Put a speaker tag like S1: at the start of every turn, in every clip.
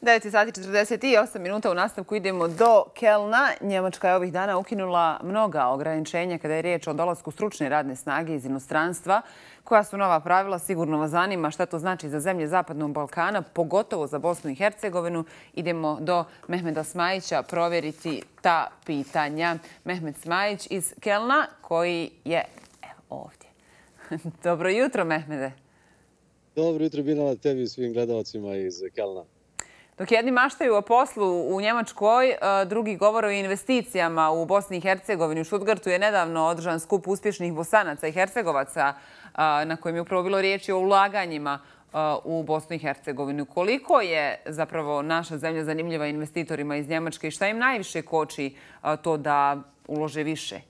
S1: 9 sati 48 minuta u nastavku idemo do Kelna. Njemačka je ovih dana ukinula mnoga ograničenja kada je riječ o dolasku stručne radne snage iz inostranstva. Koja su nova pravila? Sigurno vas zanima šta to znači za zemlje Zapadnog Balkana, pogotovo za Bosnu i Hercegovinu. Idemo do Mehmeda Smajića provjeriti ta pitanja. Mehmed Smajić iz Kelna koji je ovdje. Dobro jutro, Mehmede.
S2: Dobro jutro, Binala, tebi i svim gledalcima iz Kelna.
S1: Dok jedni maštaju o poslu u Njemačkoj, drugi govore o investicijama u Bosni i Hercegovini. U Stuttgartu je nedavno održan skup uspješnih Bosanaca i Hercegovaca na kojem je upravo bilo riječi o ulaganjima u Bosnu i Hercegovinu. Koliko je zapravo naša zemlja zanimljiva investitorima iz Njemačke i šta im najviše koči to da ulože više?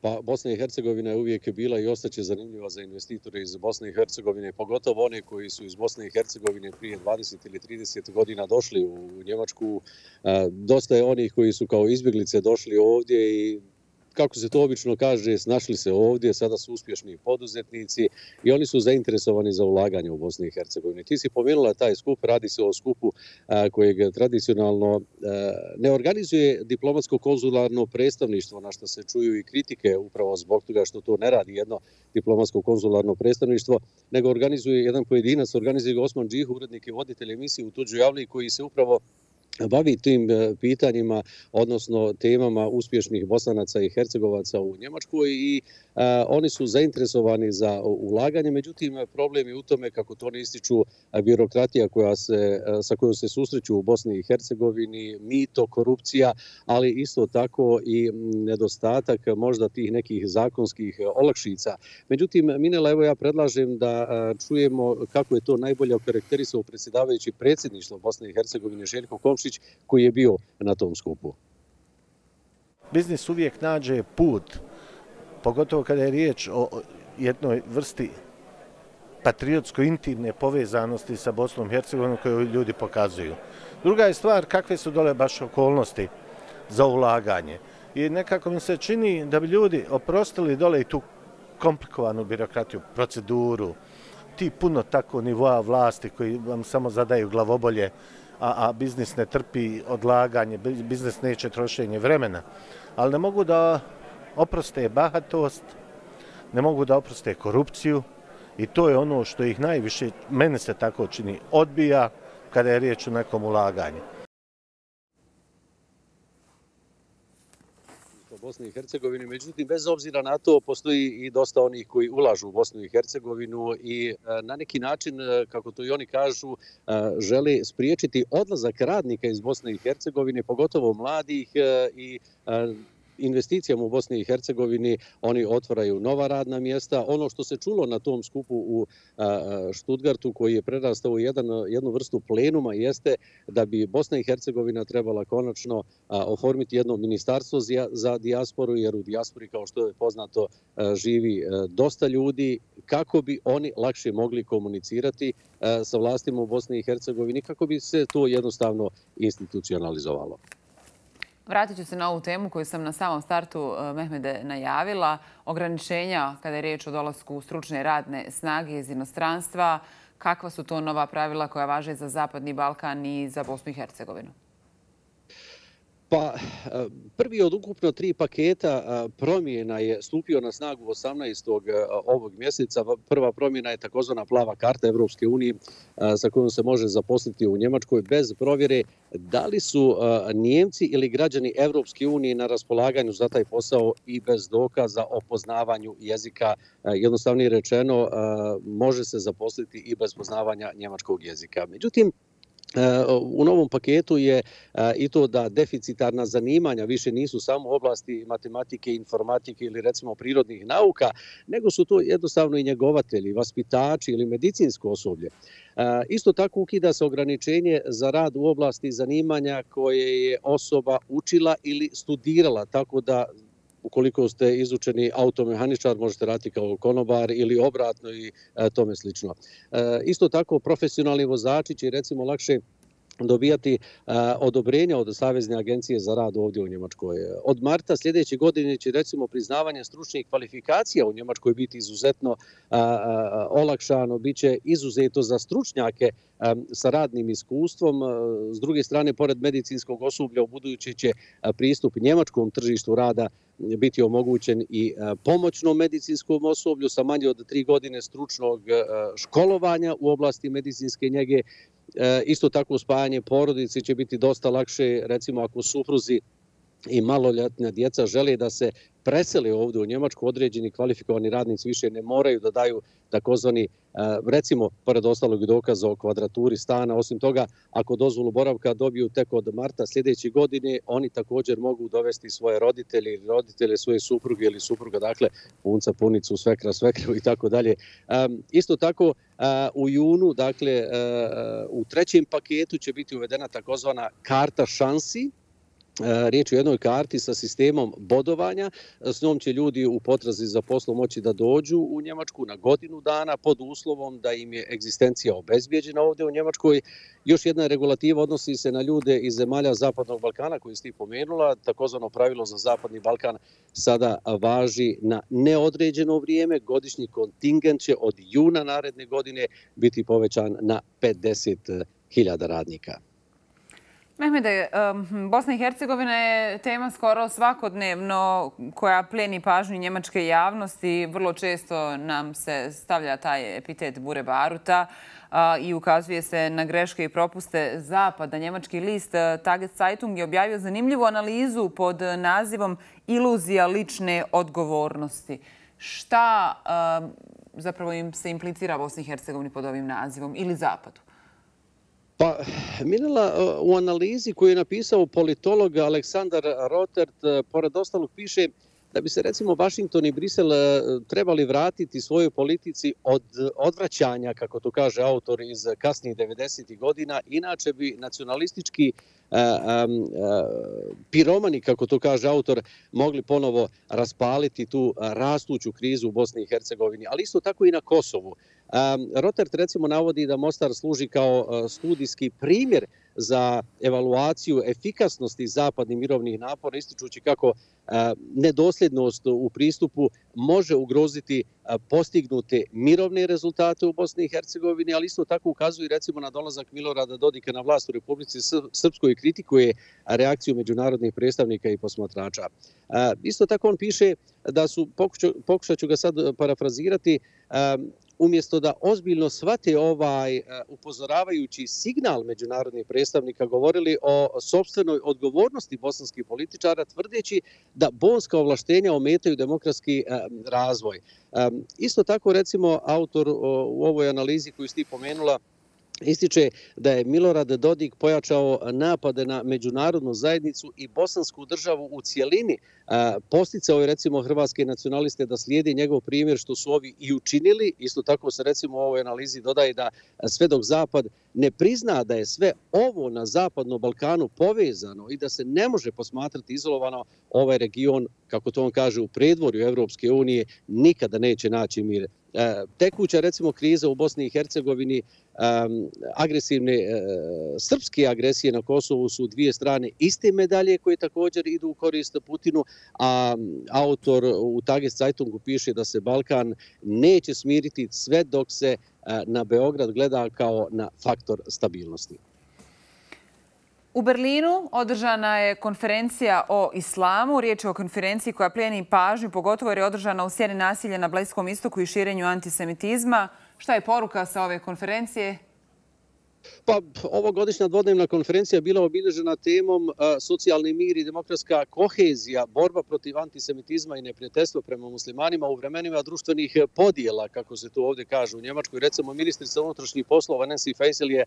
S2: Pa Bosna i Hercegovina je uvijek bila i ostaće zanimljiva za investitore iz Bosne i Hercegovine, pogotovo one koji su iz Bosne i Hercegovine prije 20 ili 30 godina došli u Njemačku. Dosta je onih koji su kao izbjeglice došli ovdje i kako se to obično kaže, snašli se ovdje, sada su uspješni poduzetnici i oni su zainteresovani za ulaganje u Bosni i Hercegovini. Ti si pomenula taj skup, radi se o skupu kojeg tradicionalno ne organizuje diplomatsko-konzularno predstavništvo, na što se čuju i kritike upravo zbog toga što to ne radi jedno diplomatsko-konzularno predstavništvo, nego organizuje jedan pojedinac, organizuje ga Osman Džih, urednik i voditelj emisije U tuđoj javlji koji se upravo bavi tim pitanjima, odnosno temama uspješnih Bosanaca i Hercegovaca u Njemačkoj i oni su zainteresovani za ulaganje. Međutim, problem je u tome, kako to ne ističu, birokratija sa kojom se susreću u Bosni i Hercegovini, mito, korupcija, ali isto tako i nedostatak možda tih nekih zakonskih olakšica. Međutim, Minela, evo ja predlažem da čujemo kako je to najbolje okarakterisao predsjedavajući predsjedništvo Bosne i Hercegovine Željko Komšić, koji je bio na tom skupu.
S3: Biznis uvijek nađe put, pogotovo kada je riječ o jednoj vrsti patriotsko-intimne povezanosti sa Bosnom i Hercegovinom koju ljudi pokazuju. Druga je stvar kakve su dole baš okolnosti za ulaganje. I nekako mi se čini da bi ljudi oprostili dole i tu komplikovanu birokratiju, proceduru, ti puno tako nivoa vlasti koji vam samo zadaju glavobolje, a biznis ne trpi odlaganje, biznis neće trošenje vremena. Ali ne mogu da oproste bahatost, ne mogu da oproste korupciju i to je ono što ih najviše, mene se tako čini, odbija kada je riječ o nekom ulaganju.
S2: Bosni i Hercegovini. Međutim, bez obzira na to, postoji i dosta onih koji ulažu u Bosnu i Hercegovinu i na neki način, kako to i oni kažu, žele spriječiti odlazak radnika iz Bosne i Hercegovine, pogotovo mladih i investicijama u Bosni i Hercegovini. Oni otvaraju nova radna mjesta. Ono što se čulo na tom skupu u Stuttgartu, koji je prerastao u jednu vrstu plenuma, jeste da bi Bosna i Hercegovina trebala konačno oformiti jedno ministarstvo za dijasporu, jer u dijaspori, kao što je poznato, živi dosta ljudi, kako bi oni lakše mogli komunicirati sa vlastima u Bosni i Hercegovini, kako bi se to jednostavno institucionalizovalo.
S1: Vratit ću se na ovu temu koju sam na samom startu, Mehmede, najavila. Ograničenja kada je riječ o dolasku stručne radne snage iz inostranstva. Kakva su to nova pravila koja važe za Zapadni Balkan i za Bosnu i Hercegovinu?
S2: Pa, prvi od ukupno 3 paketa promjena je stupio na snagu 18. ovog mjeseca. Prva promjena je takozvana plava karta Evropske unije sa kojom se može zaposliti u Njemačkoj bez provjere da li su Njemci ili građani Evropske unije na raspolaganju za taj posao i bez dokaza o poznavanju jezika. Jednostavnije rečeno, može se zaposliti i bez poznavanja njemačkog jezika. Međutim, u novom paketu je i to da deficitarna zanimanja više nisu samo oblasti matematike, informatike ili recimo prirodnih nauka, nego su to jednostavno i njegovatelji, vaspitači ili medicinsko osoblje. Isto tako ukida se ograničenje za rad u oblasti zanimanja koje je osoba učila ili studirala, tako da ukoliko ste izučeni automehaničar, možete raditi kao konobar ili obratno i tome slično. Isto tako, profesionalni vozači će recimo lakše dobijati odobrenja od Savezne agencije za rad ovdje u Njemačkoj. Od marta sljedeće godine će recimo priznavanje stručnih kvalifikacija u Njemačkoj biti izuzetno olakšano, bit će izuzeto za stručnjake sa radnim iskustvom. S druge strane, pored medicinskog osoblja, u buduće će pristup njemačkom tržištu rada biti omogućen i pomoćnom medicinskom osoblju sa manje od 3 godine stručnog školovanja u oblasti medicinske njege. Isto tako spajanje porodice će biti dosta lakše, recimo ako supruzi i maloljetna djeca žele da se presele ovdje u Njemačku, određeni kvalifikovani radnici više ne moraju da daju takozvani, recimo, pored ostalog dokaza o kvadraturi stana. Osim toga, ako dozvolu boravka dobiju tek od marta sljedeće godine, oni također mogu dovesti svoje roditelje ili roditelje svoje supruge ili supruga, dakle, punca, punicu, svekra, svekru i tako dalje. Isto tako, u junu, dakle, u 3. paketu će biti uvedena takozvana karta šansi. Riječ je o jednoj karti sa sistemom bodovanja. S njom će ljudi u potrazi za poslom moći da dođu u Njemačku na godinu dana pod uslovom da im je egzistencija obezbijeđena ovdje u Njemačkoj. Još jedna regulativa odnosi se na ljude iz zemalja Zapadnog Balkana koji ste pomenula. Takozvano pravilo za Zapadni Balkan sada važi na neodređeno vrijeme. Godišnji kontingent će od juna naredne godine biti povećan na 50.000 radnika.
S1: Mehmede, Bosna i Hercegovina je tema skoro svakodnevno koja plijeni pažnju njemačke javnosti. Vrlo često nam se stavlja taj epitet bure baruta i ukazuje se na greške i propuste Zapada. Njemački list Tageszeitung je objavio zanimljivu analizu pod nazivom Iluzija lične odgovornosti. Šta zapravo im se implicira Bosni i Hercegovini pod ovim nazivom ili Zapadu?
S2: Pa, Mirela, u analizi koju je napisao politolog Aleksandar Rotert, pored ostalog piše da bi se recimo Vašington i Brisel trebali vratiti svojoj politici od odvraćanja, kako to kaže autor, iz kasnijih 90. godina. Inače bi nacionalistički piromani, kako to kaže autor, mogli ponovo raspaliti tu rastuću krizu u Bosni i Hercegovini, ali isto tako i na Kosovu. Rotert recimo navodi da Mostar služi kao studijski primjer za evaluaciju efikasnosti zapadnih mirovnih napora, ističući kako nedosljednost u pristupu može ugroziti postignute mirovne rezultate u Bosni i Hercegovini, ali isto tako ukazuje recimo na dolazak Milorada Dodika na vlast u Republici Srpskoj i kritikuje reakciju međunarodnih predstavnika i posmatrača. Isto tako on piše da su, pokušat ću ga sad parafrazirati, umjesto da ozbiljno shvate ovaj upozoravajući signal međunarodnih predstavnika, govorili o sopstvenoj odgovornosti bosanskih političara, tvrdeći da bonska ovlaštenja ometaju demokratski razvoj. Isto tako, recimo, autor u ovoj analizi koju ste pomenula ističe da je Milorad Dodik pojačao napade na međunarodnu zajednicu i bosansku državu u cijelini. Posticao je recimo hrvatske nacionaliste da slijedi njegov primjer, što su ovi i učinili. Isto tako se recimo u ovoj analizi dodaje da sve dok Zapad ne prizna da je sve ovo na Zapadnom Balkanu povezano i da se ne može posmatrati izolovano, ovaj region, kako to on kaže, u predvorju Evropske unije nikada neće naći mir. Tekuća recimo kriza u Bosni i Hercegovini, agresivne srpske agresije na Kosovu su dvije strane iste medalje koje također idu u korist Putinu, a autor u Tageszeitungu piše da se Balkan neće smiriti sve dok se na Beograd gleda kao na faktor stabilnosti.
S1: U Berlinu održana je konferencija o islamu. Riječ je o konferenciji koja plijeni pažnju, pogotovo jer je održana u sjeni nasilja na Bliskom istoku i širenju antisemitizma. Šta je poruka sa ove konferencije?
S2: Pa, ovogodišnja dvodnevna konferencija bila obilježena temom socijalni mir i demokratska kohezija, borba protiv antisemitizma i neprijateljstva prema muslimanima u vremenima društvenih podjela, kako se to ovdje kaže u Njemačkoj. Recimo, ministrica unutrašnjih poslova Nancy Faeser je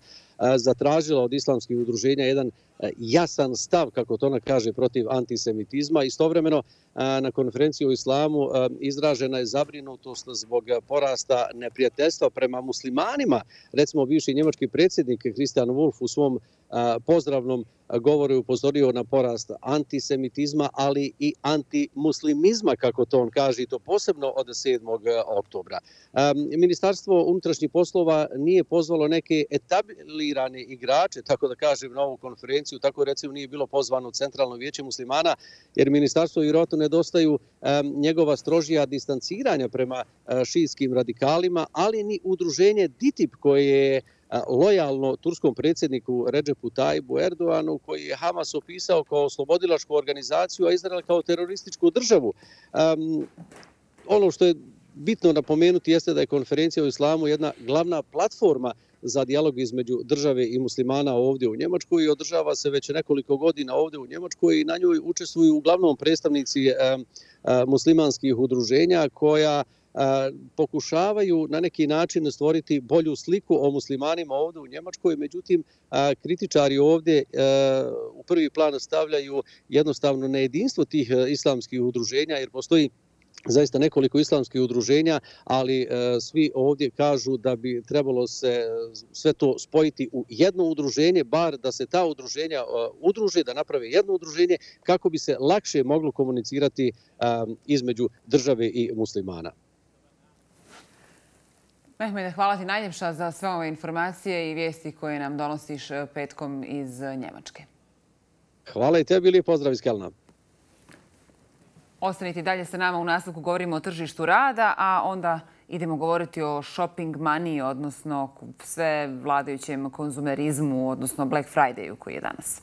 S2: zatražila od islamskih udruženja jedan jasan stav, kako to ona kaže, protiv antisemitizma. Istovremeno, na konferenciji o islamu izražena je zabrinutost zbog porasta neprijateljstva prema muslimanima. Recimo, bivši njemački predsjednik predsjednik Christian Wolff u svom pozdravnom govoru je upozorio na porast antisemitizma, ali i antimuslimizma, kako to on kaže, i to posebno od 7. oktobra. Ministarstvo unutrašnjih poslova nije pozvalo neke etablirane igrače, tako da kažem, na ovu konferenciju, tako recimo nije bilo pozvano Centralno vijeće muslimana, jer ministarstvo vjerojatno nedostaju njegova strožija distanciranja prema šijskim radikalima, ali ni udruženje DITIB koje je lojalno turskom predsjedniku Redžepu Tayyipu Erdoganu, koji je Hamas opisao kao oslobodilačku organizaciju, a Izrael kao terorističku državu. Ono što je bitno napomenuti jeste da je konferencija o islamu jedna glavna platforma za dijalog između države i muslimana ovdje u Njemačkoj i održava se već nekoliko godina ovdje u Njemačkoj i na njoj učestvuju uglavnom predstavnici muslimanskih udruženja koja pokušavaju na neki način stvoriti bolju sliku o muslimanima ovdje u Njemačkoj. Međutim, kritičari ovdje u prvi plan stavljaju jednostavno nejedinstvo tih islamskih udruženja, jer postoji zaista nekoliko islamskih udruženja, ali svi ovdje kažu da bi trebalo se sve to spojiti u jedno udruženje, bar da se ta udruženja udruže, da naprave jedno udruženje kako bi se lakše moglo komunicirati između države i muslimana.
S1: Mehmede, hvala ti najljepša za sve ove informacije i vijesti koje nam donosiš petkom iz Njemačke.
S2: Hvala i tebi, lijep pozdrav iz Kelna.
S1: Ostanite dalje sa nama, u nastavku govorimo o tržištu rada, a onda idemo govoriti o shopping money, odnosno sve vladajućem konzumerizmu, odnosno Black Fridayu koji je danas.